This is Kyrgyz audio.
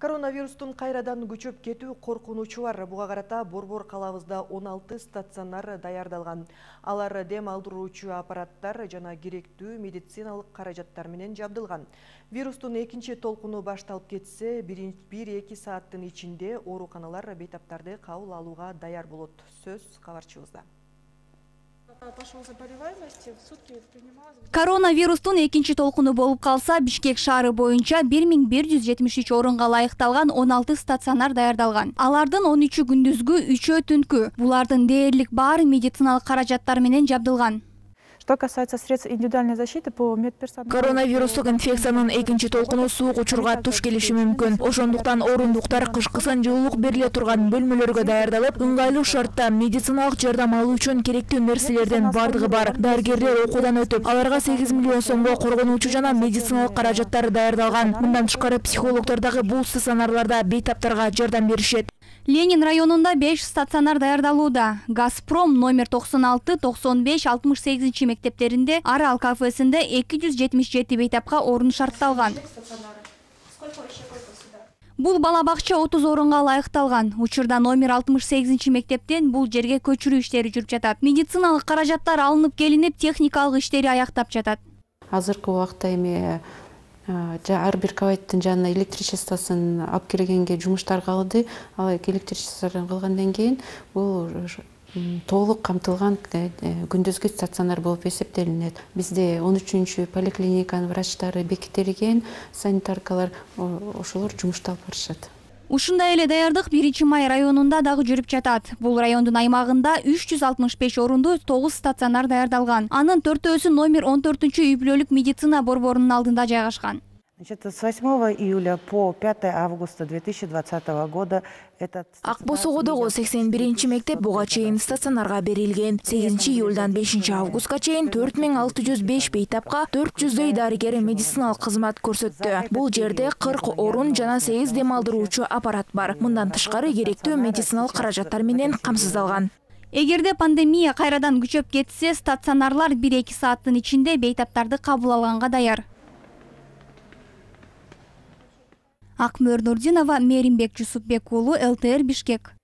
Коронавирустун кайрадан күчөп кетүү коркунучу бар. Буга карата Борбор калабызда 16 стационар даярдалган. Алар дем алдыруучу аппараттар жана керектүү медициналык каражаттар менен жабдылган. Вирустун экинчи толкуну башталып кетсе, 1-2 сааттын ичинде ооруканалар бейтаптарды кабыл алууга даяр болот. Сөз кабарчыбызда. Коронавирустун экинчи толкуну болуп калса, Бишкек шаары боюнча 1173 орунга ылайыкталган 16 стационар даярдалган. Алардын 13 күндүзгү, 3 түнкү. Булардын дээрлик баары медициналык каражаттар менен жабдылган. Что касается средств индивидуальной защиты по медперсоналу. Коронавирустук инфекциянын экинчи толкуну суук учурга туш келиши мүмкүн. Ошондуктан орундуктар кышкысын жылуулук бериле турган бөлмөлөргө даярдалып, ыңгайлуу шартта медициналык жардам алуу үчүн керектүү нерселердин бардыгы бар. Дарыгерлер окуудан өтүп, аларга 8 миллион сомго коргонуучу жана медициналык каражаттар даярдалган. Мындан тышкары психологдор дагы бул стационарларда бейтаптарга жардам беришет. Ленин районунда 5 стационар даярдалууда. Газпром номер 96, 95, 68 мектептеринде, Арал кафесинде 277 бейтапка орун шартталган. Бул бала бакча 30 орунга ылайыкталган. Учурда номер 68 мектептен бул жерге көчүрүү иштери жүрүп жатат. Медициналык каражаттар алынып келинип, техникалык иштери аяктап жатат. Азыркы убакта эми ар бир кабаттын жанына электричествосын алып келгенге жумуштар кылды. Ал электричествосын кылгандан кийин бул толук камтылган күндүзгү стационар болуп эсептелинет. Бизде 13-чү поликлиниканын врачтары бекитилген, санитаркалар ошолор жумуштап барышат. Ушундай эле даярдык 1-Май районунда дагы жүрүп жатат. Бул райондун аймагында 365 орунду 9 стационар даярдалган. Анын 4-өсү номер 14-үй үй-бүлөлүк медицина борборунун алдында жайгашкан. С 8 июля по 5 августа 2020 года Ак Босогодогу 81 мектеп буга чейин стационарга берилген. 8 июлдан 5 августка чейин 4605 бейтапка 400дөй дарыгер медициналык кызмат көрсөттү. Бул жерде 40 орун жана 8 дем алдыруучу аппарат бар. Мындан тышкары керектүү медициналык каражаттар менен камсыздалган. Эгерде пандемия кайрадан күчөп кетсе, стационарлар 1-2 сааттын ичинде бейтаптарды кабыл алганга даяр. Акмөр Нурдинова, Меримбек Жусупбек уулу, ЛТР Бишкек.